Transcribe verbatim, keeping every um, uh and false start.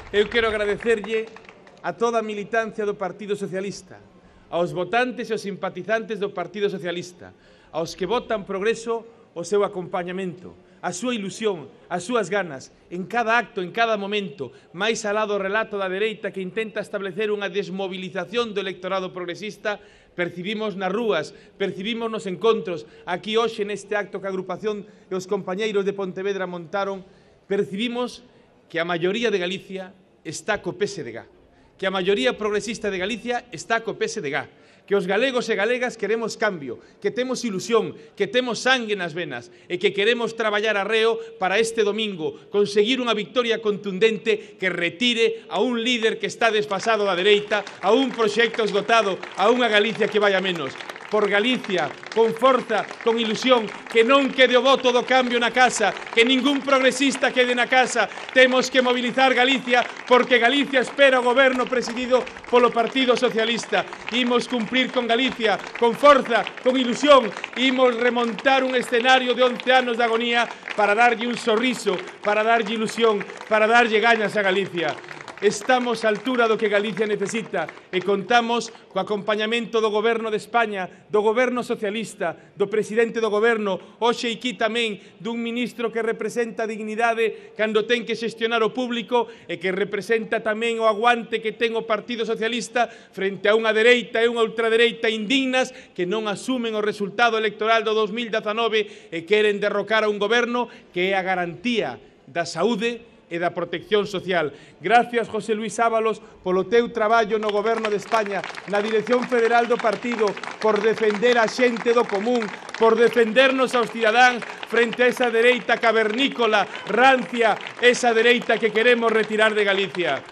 Eu quero agradecerlle a toda a militancia do Partido Socialista, aos votantes e aos simpatizantes do Partido Socialista, aos que votan progreso o seu acompañamento, a súa ilusión, as súas ganas, en cada acto, en cada momento, máis alá do relato da dereita que intenta establecer unha desmovilización do electorado progresista, percibimos nas rúas, percibimos nos encontros, aquí hoxe neste acto que a agrupación e os compañeiros de Pontevedra montaron, percibimos que a maioría de Galicia está co P S D G, que a maioría progresista de Galicia está co P S D G, que os galegos e galegas queremos cambio, que temos ilusión, que temos sangue nas venas e que queremos traballar arreo para este domingo conseguir unha victoria contundente que retire a un líder que está desfasado da dereita, a un proxecto esgotado, a unha Galicia que vai a menos. Por Galicia, con forza, con ilusión, que non quede o voto do cambio na casa, que ningún progresista quede na casa. Temos que mobilizar Galicia porque Galicia espera o goberno presidido polo Partido Socialista. Imos cumprir con Galicia, con forza, con ilusión. Imos remontar un escenario de once anos de agonía para darlle un sorriso, para darlle ilusión, para darlle gañas a Galicia. Estamos á altura do que Galicia necesita e contamos co acompañamento do Goberno de España, do Goberno Socialista, do Presidente do Goberno, hoxe aquí tamén dun ministro que representa a dignidade cando ten que xestionar o público e que representa tamén o aguante que ten o Partido Socialista frente a unha dereita e unha ultradereita indignas que non asumen o resultado electoral do dos mil dezanove e queren derrocar a un goberno que é a garantía da saúde e da protección social. Gracias, José Luis Ábalos, polo teu traballo no Goberno de España, na Dirección Federal do Partido, por defender a xente do común, por defendernos aos cidadáns frente a esa dereita cavernícola, rancia, esa dereita que queremos retirar de Galicia.